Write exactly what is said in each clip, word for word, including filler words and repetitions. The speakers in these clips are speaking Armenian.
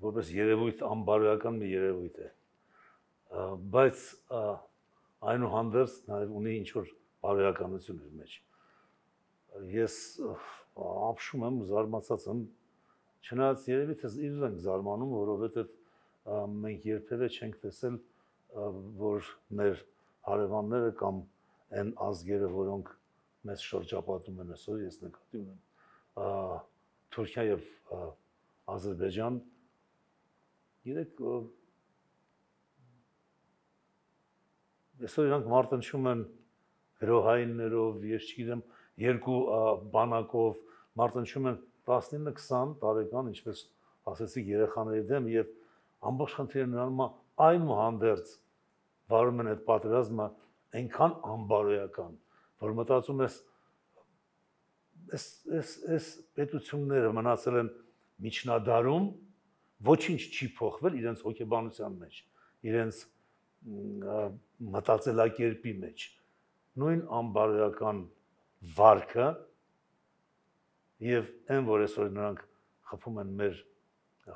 որպես երևույթ անբարոյական մի երևույթ է, բայց այնուհանդերձ նաև ունի ինչ-որ բարոյականություն իր մեջ։ Ես ապշում եմ, զարմացած եմ, չնայած երևի թե իրար ենք զարմանում, որովհետև մենք երբևէ չենք տեսել, որ մեր հարևանները կամ այն ազգերը, որոնք մեզ շրջապատում են այսօր, ես նկատի ունեմ Թուրքիա եւ Ադրբեջան, երեք այսօր իրանք մարտնչում են գրոհայիններով, ես չգիտեմ, երկու բանակով մարտնչում են տասնինը քսան տարեկան, ինչպես ասեցիք, երեխաների դեմ եւ ամբողջ խնդիրը նրանում է այնուհանդերձ վարում են այդ պատերազմը այնքան անբարոյական, որ մտածում ես այս այս այս պետությունները մնացել են միջնադարում, ոչինչ չի փոխվել իրենց հոգեբանության մեջ, իրենց մտածելակերպի մեջ, նույն անբարոյական վարքը եւ այն, որ այսօր նրանք խփում են մեր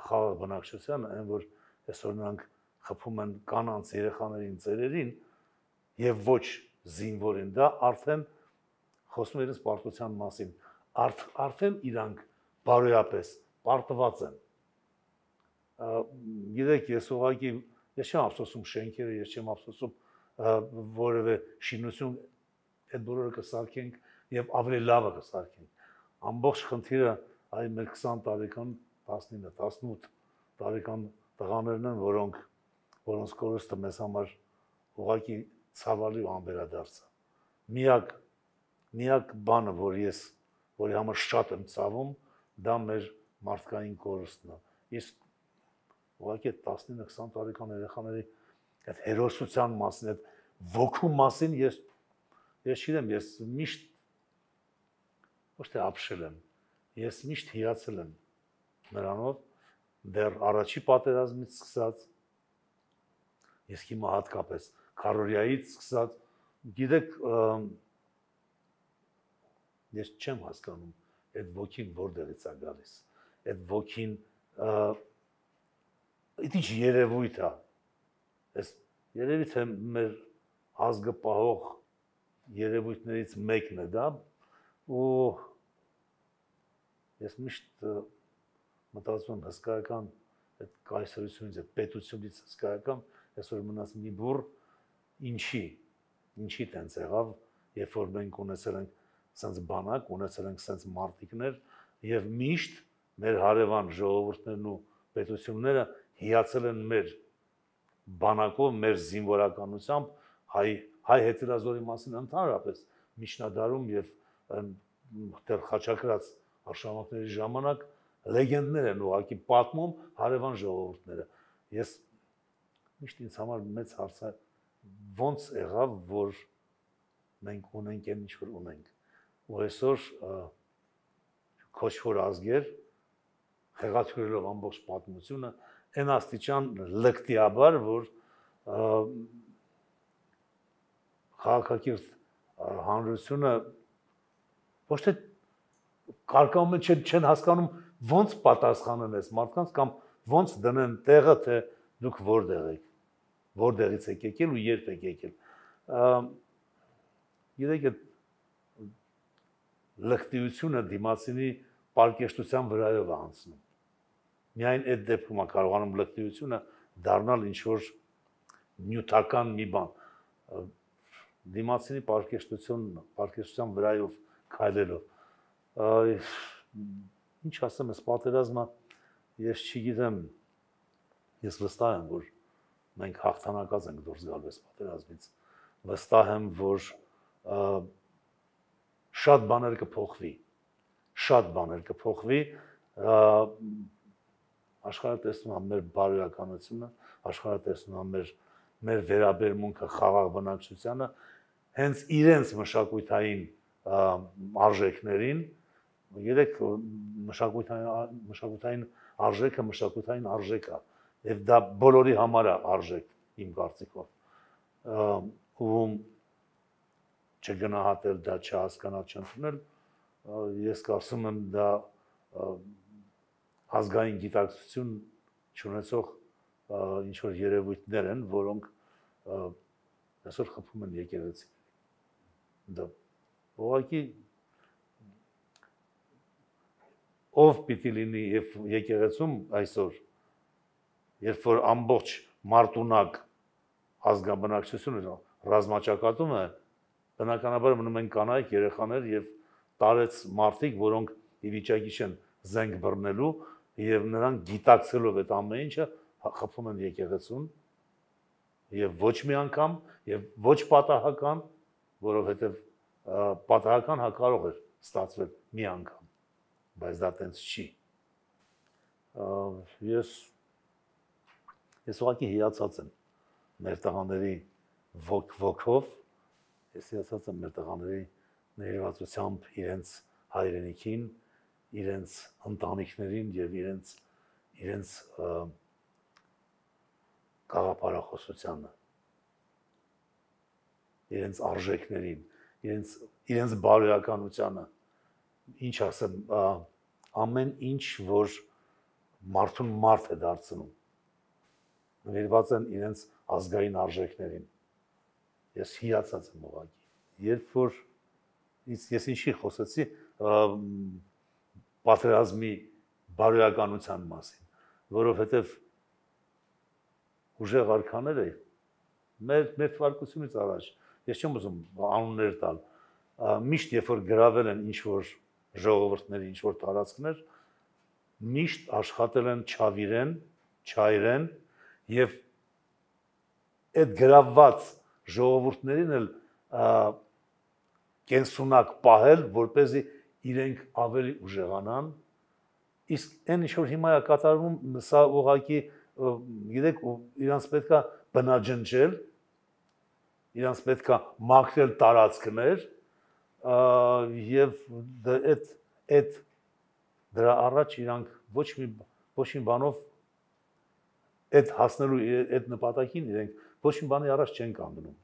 խաղաղ բնակչությանը, այն, որ այսօր նրանք խփում են կանանց երեխաներին, ծերերին եւ ոչ զինվորին, դա արդեն խոսում է իրենց պարտության մասին, արդեն իրանք բարոյապես պարտված են։ Գիտեք, ես ուղղակի ես չեմ ափսոսում շենքերը, ես չեմ ափսոսում որևէ շինություն, այդ բոլորը կսարքենք եւ ավելի լավը կսարքենք։ Ամբողջ խնդիրը այ մեր քսան տարեկան, տասնինը, տասնութ տարեկան տղաներն են, որոնք որոնց կորուստը մեզ համար ուղղակի ցավալի ու անվերադարձ է։ Միակ միակ բանը, որ ես որի համար շատ եմ ցավում, դա մեր մարդկային կորուստն է։ Իսկ ուղղակի տասնինը քսան տարեկան երեխաների այդ հերոսության մասին, այդ ոգու մասին ես ես չգիտեմ, ես միշտ ոչ թե ապշել եմ, ես միշտ հիացել եմ նրանով, դեռ առաջի պատերազմից սկսած, ես հիմա հատկապես քարորիայից սկսած, գիտեք, ես չեմ հասկանում այդ ոգին որտեղից է գալիս, այդ ոգին այդ ինչ երևույթ է, այս երևի թե մեր ազգը պահող երևույթներից մեկն է դա, ու ես միշտ մտածում եմ հսկայական այդ կայսրությունից, այդ պետությունից հսկայական, այսօր մնաց մի բուռ, ինչի, ինչի տենց եղավ, երբ որ մենք ունեցել ենք սենց բանակ, ունեցել ենք սենց մարտիկներ եւ միշտ մեր հարևան ժողովուրդներն ու պետությունները հիացել են մեր բանակով, մեր զինվորականությամբ, հայ հայ հետազոտի մասին ընդհանրապես միջնադարում եւ դեռ խաչակրաց արշավանքների ժամանակ լեգենդներ են ուղղակի պատմում հարևան ժողովուրդները։ Ես միշտ ինձ համար մեծ հարց է, ոնց եղավ, որ մենք ունենք այն ինչ որ ունենք։ Ու այսօր քոչվոր ազգեր խեղաթյուրելով ամբողջ պատմությունը այն աստիճան լկտիաբար, որ քաղաքակիրթ հանրությունը ոչ թե կարկանում են, չեն հասկանում ոնց պատասխանեն այս մարդկանց կամ ոնց դնեն տեղը, թե դուք որտեղ եք, որտեղից եք եկել ու երբ եք եկել։ Գիտեք, լկտիությունը դիմացինի պարկեշտության վրայով է անցնում։ Միայն այդ դեպքում է կարողանում լկտիությունը դառնալ ինչ-որ նյութական մի բան։ Դիմացինի պարկեշտություն, պարկեշտության վրայով քայլելով։ Ինչ ասեմ, այս պատերազմը ես չգիտեմ, ես վստահ եմ, որ մենք հաղթանակած ենք դուրս գալու այս պատերազմից։ Վստահ եմ, որ շատ բաներ կփոխվի, շատ բաներ կփոխվի, աշխարհը տեսնում է մեր բարոյականությունը, աշխարհը տեսնում է մեր մեր վերաբերմունքը խաղաղ բնակչությանը, հենց իրենց մշակութային արժեքներին, երեք մշակութային մշակութային արժեքը մշակութային արժեք է, եւ դա բոլորի համար է արժեք, իմ կարծիքով։ Ու չգնահատել դա, չհասկանալ, չընդունել, ես կարծում եմ դա ազգային գիտակցություն չունեցող ինչ որ երևույթներ են, որոնք այսօր խփում են եկեղեցի։ Դա ուղղակի ով պիտի լինի եւ եկեղեցում այսօր, երբ որ ամբողջ մարտունակ ազգաբնակչությունը ռազմաճակատում է, բնականաբար մնում են կանայք, երեխաներ եւ տարեց մարդիկ, որոնք ի վիճակի չեն զենք բռնելու եւ նրանք գիտակցելով այդ ամեն ինչը խփում են եկեղեցուն եւ ոչ մի անգամ եւ ոչ պատահական, որովհետեւ պատահական հա կարող էր ստացվել մի անգամ, բայց դա տենց չի։ Ես ես ուղղակի հիացած եմ մեր տղաների ոգ ոգով, ես հիացած եմ մեր տղաների ներվածությամբ իրենց հայրենիքին, իրենց ընտանիքներին եւ իրենց իրենց գաղափարախոսությանը, իրենց արժեքներին, իրենց իրենց բարոյականությանը, ինչ ասեմ, ամեն ինչ, որ մարդուն մարդ է դարձնում, նվիրված են իրենց ազգային արժեքներին։ Ես հիացած եմ ուղղակի։ Երբ որ ես ինչի խոսեցի պատերազմի բարոյականության մասին, որովհետև ուժեղ արքաները մեր մեր թվարկությունից առաջ, ես չեմ ուզում անուններ տալ, միշտ երբ որ գրավել են ինչ որ ժողովուրդների ինչ որ տարածքներ, միշտ աշխատել են չավիրեն, չայրեն եւ այդ գրավված ժողովուրդներին էլ կենսունակ պահել, որպեսզի իրենք ավելի ուժեղանան, իսկ այն ինչ որ հիմա է կատարվում, սա ուղղակի գիտեք, իրանց պետքա բնաջնջել, իրանց պետքա մաքրել տարածքներ եւ այդ այդ դրա առաջ իրանք ոչ մի ոչ մի բանով այդ հասնելու այդ նպատակին իրենք ոչ մի բանի առաջ չեն կանգնում։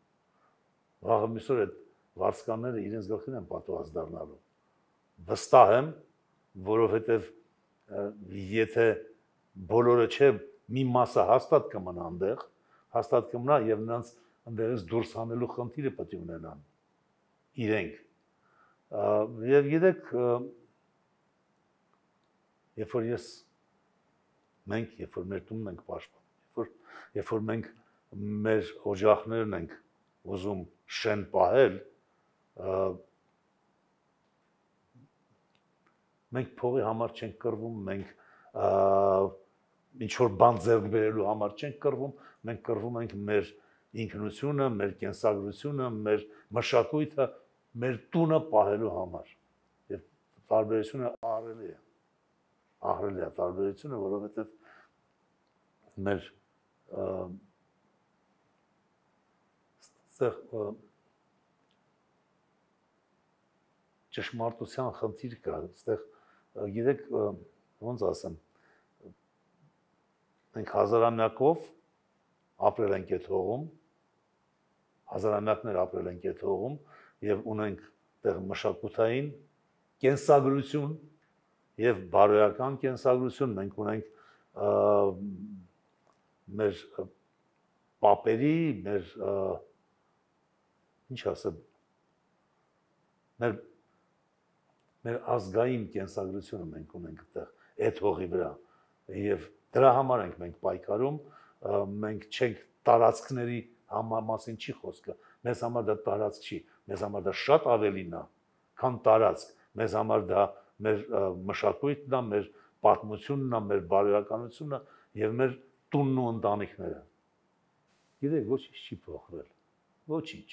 Վաղը միսօր այդ վարձկանները իրենց գլխին են պատված դառնալու։ Վստահ եմ, որովհետեւ եթե բոլորը չէ, մի մասը հաստատ կմնա այնտեղ, հաստատ կմնա եւ նրանց այնտեղից դուրս հանելու խնդիրը պետք է ունենան իրենք։ Եվ գիտեք, երբ որ ես մենք, երբ որ մեր տունն ենք պաշտպանում, երբ որ մենք մեր օջախներն ենք ուզում շեն պահել, մենք փողի համար չենք կռվում, մենք ինչ որ բան ձեռք բերելու համար չենք կռվում, մենք կռվում ենք մեր ինքնությունը, մեր կենսագրությունը, մեր մշակույթը, մեր տունը պահելու համար։ Եվ տարբերությունը ահռելի է։ Ահռելի է տարբերությունը, որովհետև մեր այստեղ ճշմարտության խնդիր կա, այստեղ գիտեք ոնց ասեմ, մենք հազարամյակով ապրել ենք այդ հողում, հազարամյակներ ապրել ենք այդ հողում եւ ունենք այդտեղ մշակութային կենսագրություն եւ բարոյական կենսագրություն, մենք ունենք մեր պապերի, մեր ինչ ասեմ, մեր մեր ազգային կենսագրությունը մենք ունենք այդտեղ այդ հողի վրա եւ դրա համար ենք մենք պայքարում, մենք չենք տարածքների մասին չի խոսքը, մեզ համար դա տարածք չի, մեզ համար դա շատ ավելին է, քան տարածք, մեզ համար դա մեր մշակույթն է, մեր պատմությունն է, մեր բարոյականությունն է եւ մեր տունն ու ընտանիքները։ Գիտեք, ոչինչ չի փոխվել, ոչինչ։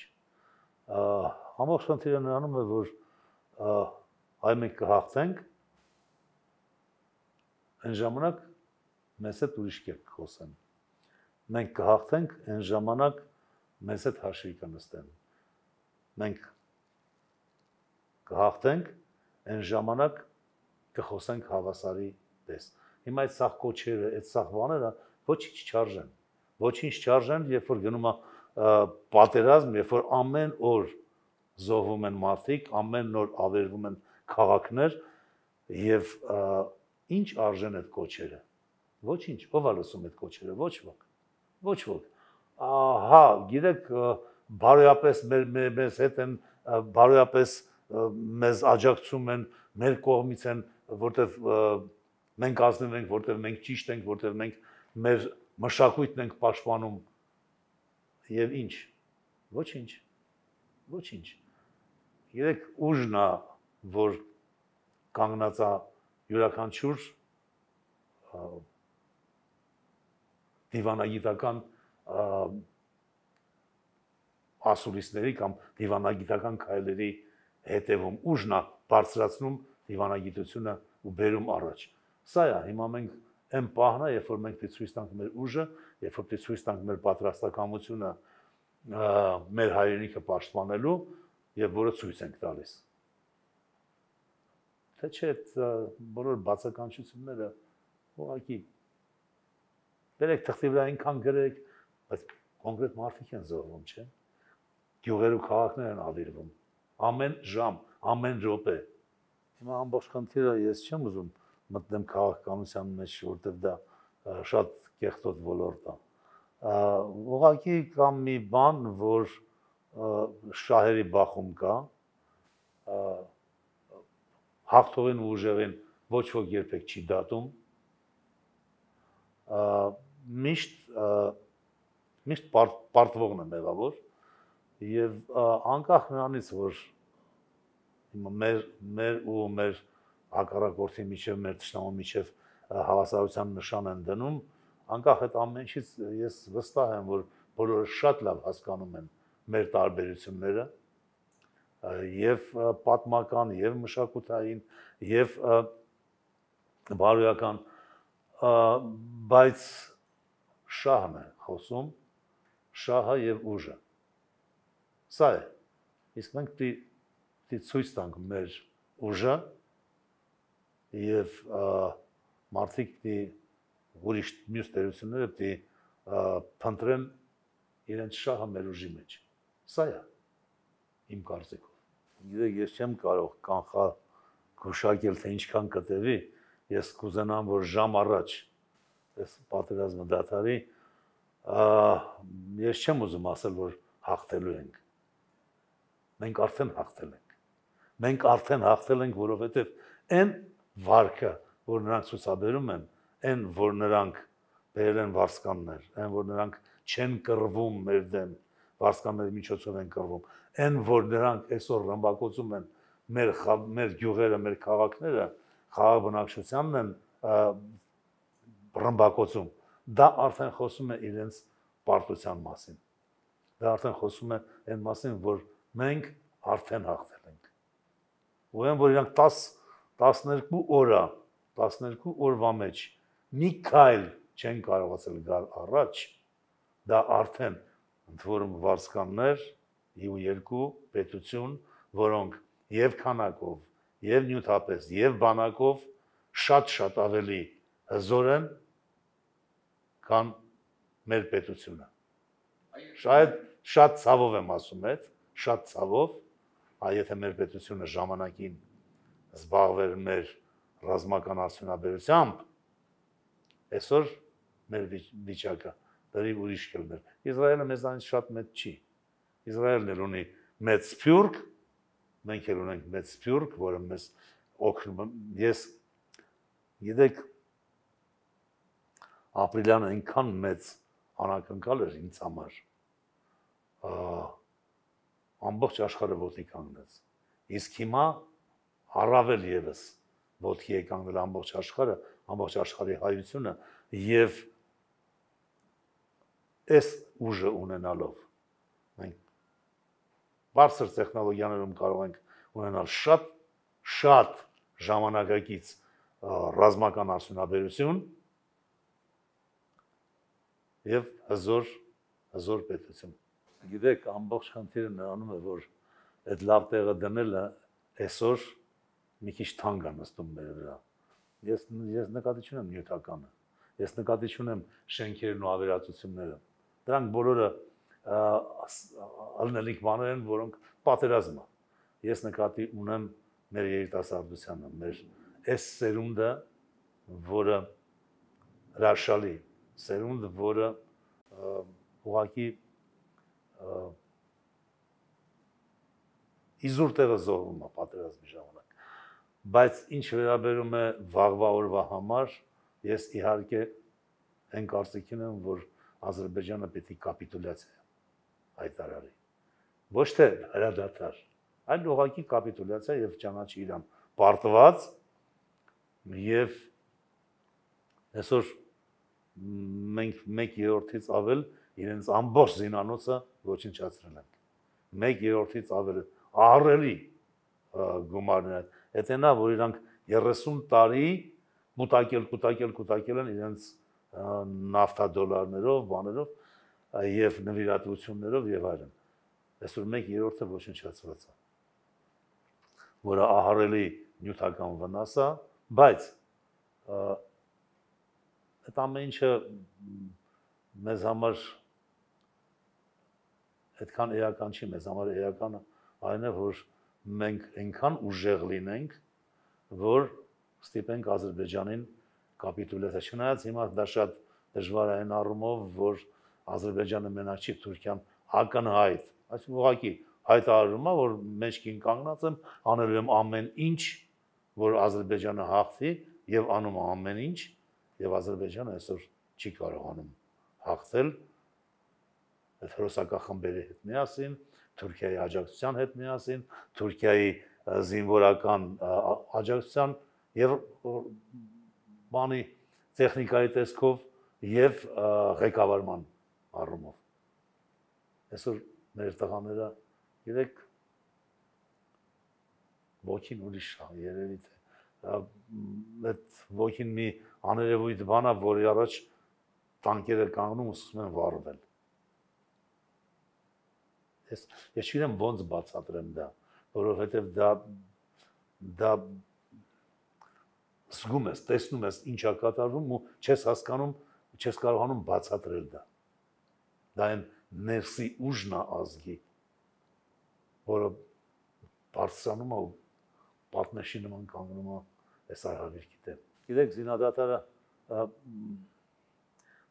Ամբողջ խնդիրը նրանում է, որ այ մենք կհաղթենք, այն ժամանակ մեզ հետ ուրիշ կերպ կխոսեն։ Մենք կհաղթենք, այն ժամանակ մեզ հետ հաշվի կնստեն։ Մենք կհաղթենք, այն ժամանակ կխոսենք հավասարի պես։ Հիմա այդ սաղ կոչերը, այդ սաղ բաները ոչինչ չարժեն։ Ոչինչ չարժեն, երբ որ գնում է պատերազմ, երբ որ ամեն օր զոհվում են մարդիկ, ամեն օր ավերվում են քաղաքներ եւ ինչ արժեն այդ կոչերը։ Ոչինչ, ով է լսում այդ կոչերը, ոչ ոք։ Ոչ ոք։ Հա, գիտեք, բարոյապես մեզ հետ են, բարոյապես մեզ աջակցում են, մեր կողմից են, որտեվ մենք ազնիվ ենք, որտեվ մենք ճիշտ ենք, որտեվ մենք մեր մշակույթն ենք պաշտպանում եւ ինչ։ Ոչինչ։ Ոչինչ։ Գիտեք, ուժն է, որ կանգնած է յուրաքանչյուր դիվանագիտական ասուլիսների կամ դիվանագիտական քայլերի հետևում ուժն է բարձրացնում դիվանագիտությունը ու բերում առաջ։ Սա է, հիմա մենք այն պահն է, երբ որ մենք ցույց տանք մեր ուժը, երբ որ ցույց տանք մեր պատրաստակամությունը մեր հայրենիքը պաշտպանելու եւ որը ցույց ենք տալիս։ Թե չէ, բոլոր բացականչությունները ուղղակի բերեք թղթի վրա այնքան գրեք, բայց կոնկրետ մարդիկ են զոհվում, չէ՞։ Գյուղեր ու քաղաքներ են ավիրվում։ Ամեն ժամ, ամեն րոպե։ Հիմա ամբողջ խնդիրը ես չեմ ուզում մտնեմ քաղաքականության մեջ, որտեղ դա շատ կեղտոտ ոլորտ է։ Ուղղակի կամ մի բան, որ շահերի բախում կա, հաղթողին ու ուժեղին ոչ ոք երբեք չի դատում, միշտ միշտ պարտվողն է մեղավոր եւ անկախ նրանից, որ մեր մեր ու մեր հակառակորդի միջև, մեր ճշտամու միջև հավասարության նշան են դնում, անկախ այդ ամենից ես վստահ եմ, որ բոլորը շատ լավ հասկանում են մեր տարբերությունները եւ պատմական եւ մշակութային եւ բարոյական, բայց շահն է խոսում, շահը եւ ուժը։ Սա է։ Իսկ մենք պիտի ցույց տանք մեր ուժը եւ մարդիկ պիտի ուրիշ մյուս տերությունները պիտի փնտրեն իրենց շահը մեր ուժի մեջ։ Սա է իմ կարծիքով։ Գիտեք, ես չեմ կարող կանխալ գուշակել, թե ինչքան կտևի, ես կուզենամ, որ ժամ առաջ այս պատերազմը դադարի, ես չեմ ուզում ասել, որ հաղթելու ենք։ Մենք արդեն հաղթել ենք։ Մենք արդեն հաղթել ենք, որովհետև այն վարկը, որ նրանք ցուցաբերում են, այն, որ նրանք բերել են վարձկաններ, այն, որ նրանք չեն կռվում մեր դեմ, վարձկանների միջոցով են կռվում, այն, որ նրանք այսօր ռմբակոծում են մեր մեր գյուղերը, մեր քաղաքները, խաղաղ բնակչությանն են ռմբակոծում, դա արդեն խոսում է իրենց պարտության մասին։ Դա արդեն խոսում է այն մասին, որ մենք արդեն հաղթել ենք։ Ուրեմն որ իրանք տասներկու օր, տասներկու օրվա մեջ մի քայլ չեն կարողացել գալ առաջ, դա արդեն ընդ որում վարձկաններ ու երկու պետություն, որոնք եւ քանակով, եւ նյութապես, եւ բանակով շատ-շատ ավելի հզոր են, քան մեր պետությունը։ Շայդ շատ ցավով եմ ասում այդ, շատ ցավով, այ եթե մեր պետությունը ժամանակին զբաղվեր մեր ռազմական արդյունաբերությամբ, այսօր մեր վիճակը դեռ ուրիշ կլներ։ Իսրայելը մեզանից շատ մեծ չի։ Իսրայելն էլ ունի մեծ սփյուռք, մենք էլ ունենք մեծ սփյուռք, որը մեզ օգնում։ Ես գիտեք, ապրիլյանը այնքան մեծ անակնկալ էր ինձ համար, ամբողջ աշխարհը ոտքի կանգնեց։ Իսկ հիմա առավել եւս ոտքի է կանգնել ամբողջ աշխարհը, ամբողջ աշխարհի հայությունը եւ այս ուժը ունենալով մենք բարձր տեխնոլոգիաներում կարող ենք ունենալ շատ շատ ժամանակակից ռազմական արդյունաբերություն եւ հզոր հզոր պետություն։ Գիտեք, ամբողջ խնդիրը նրանում է, որ այդ լավ տեղը դնելը այսօր մի քիչ թանկ է նստում մեր վրա։ Ես ես նկատի չունեմ նյութականը։ Ես նկատի չունեմ շենքերն ու ավերածությունները։ Դրանք բոլորը ալնելիք բաներ են, որոնք պատերազմ է։ Ես նկատի ունեմ մեր երիտասարդությանը, մեր այս սերունդը, որը հրաշալի սերունդ, որը ուղղակի իզուր տեղը զոհվում է պատերազմի ժամանակ։ Բայց ինչ վերաբերում է վաղվա օրվա համար, ես իհարկե այն կարծիքին եմ, որ Ադրբեջանը պետք է կապիտուլյացիա հայտարարի։ Ոչ թե հրադադար, այլ ուղղակի կապիտուլյացիա եւ ճանաչի Իրան պարտված եւ այսօր մենք մեկ երրորդից ավել իրենց ամբողջ զինանոցը ոչնչացրել են։ Մեկ երրորդից ավել ահռելի գումարներ։ Դա նա, որ իրանք երեսուն տարի կուտակել, կուտակել, կուտակել են իրենց նավթադոլարներով, բաներով եւ նվիրատվություններով եւ այլն։ Այսօր մեկ երրորդը ոչնչացված է, որը ահռելի նյութական վնաս է, բայց այդ ամեն ինչը մեզ համար այդքան էական չի, մեզ համար էականը այն է, որ մենք այնքան ուժեղ լինենք, որ ստիպենք Ադրբեջանին կապիտուլյացիա, չնայած հիմա դա շատ դժվար է այն առումով, որ Ադրբեջանը մենակ չի, Թուրքիան ակնհայտ, այսինքն ուղղակի հայտարարում է, որ մեջքին կանգնած եմ, անելու եմ ամեն ինչ, որ Ադրբեջանը հաղթի եւ անում է ամեն ինչ, եւ Ադրբեջանը այսօր չի կարողանում հաղթել այդ հրոսակախմբերի հետ միասին, Թուրքիայի աջակցության հետ միասին, Թուրքիայի զինվորական աջակցության եւ բանի տեխնիկայի տեսքով եւ ղեկավարման առումով։ Այսօր մեր տղաները երեք ոգին ուրիշ է, երևի թե այդ ոգին մի աներևույթ բան է, որի առաջ տանկերը կանգնում ու սկսում են վառվել։ Ես ես չգիտեմ ոնց բացատրեմ դա, որովհետև դա դա զգում ես, տեսնում ես ինչ է կատարվում ու չես հասկանում, չես կարողանում բացատրել դա։ Դա այն ներսի ուժն է ազգի, որը բարձրանում է ու պատնեշի նման կանգնում է այս արհավիրքի դեմ։ Գիտեք, զինադատարը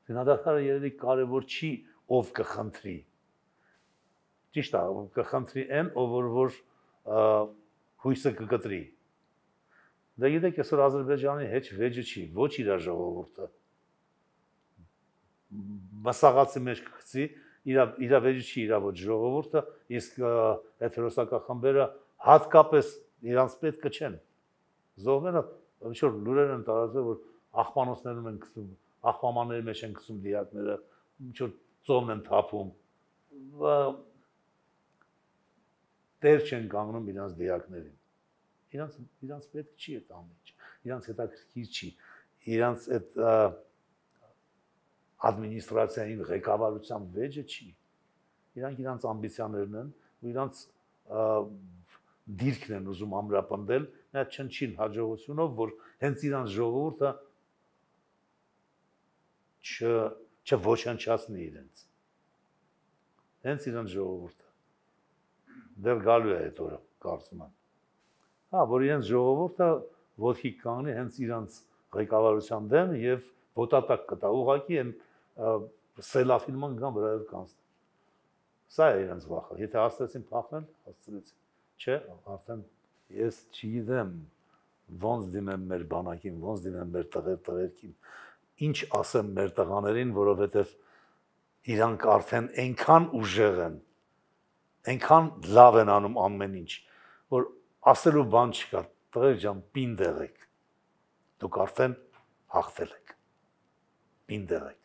զինադատարը երևի կարևոր չի, ով կխնդրի։ Ճիշտ է, կխնդրի այն, ով որ հույսը կկտրի։ Դա գիտեք, այսօր Ադրբեջանի հետ վեճը չի, ոչ իր ժողովուրդը։ Մասաղացի մեջ կգցի, իր վեճը չի իր ոչ ժողովուրդը, իսկ այդ հրոսակախմբերը հատկապես իրանց պետքը չեն։ Զոհները ինչ որ լուրեր են տարածվել, որ աղբանոցներում են գցում, աղբամանների մեջ են գցում դիակները, ինչ որ ծոմն են թափում։ Տեր չեն կանգնում իրանց դիակներին։ Իրանց իրանց պետք չի այդ ամեն ինչ։ Իրանց հետաքրքիր չի։ Իրանց այդ ադմինիստրացիային ղեկավարության վեճը չի։ Իրանք իրանց ամբիցիաներն են ու իրանց դիրքն են ուզում ամրապնդել նա չնչին հաջողությունով, որ հենց իրանց ժողովուրդը չոչնչացնի իրենց։ Հենց իրանց ժողովուրդը դեռ գալու է այդ օրը, կարծում եմ։ Հա, որ իրենց ժողովուրդը ոտքի կանգնի հենց իրանց ղեկավարության դեմ եւ ոտատակ կտա, ուղղակի այն սելաֆիլման գան վրայով կանցնի։ Սա է իրենց վախը։ Եթե հասցրեցին փախնել, հասցրեցին։ Չէ, արդեն ես չգիտեմ ոնց դիմեմ մեր բանակին, ոնց դիմեմ մեր տղեր տղերքին, ինչ ասեմ մեր տղաներին, որովհետև իրանք արդեն այնքան ուժեղ են, այնքան լավ են անում ամեն ինչ, որ ասելու բան չկա, տղեր ջան, պինդ եղեք, դուք արդեն հաղթել եք, պինդ եղեք։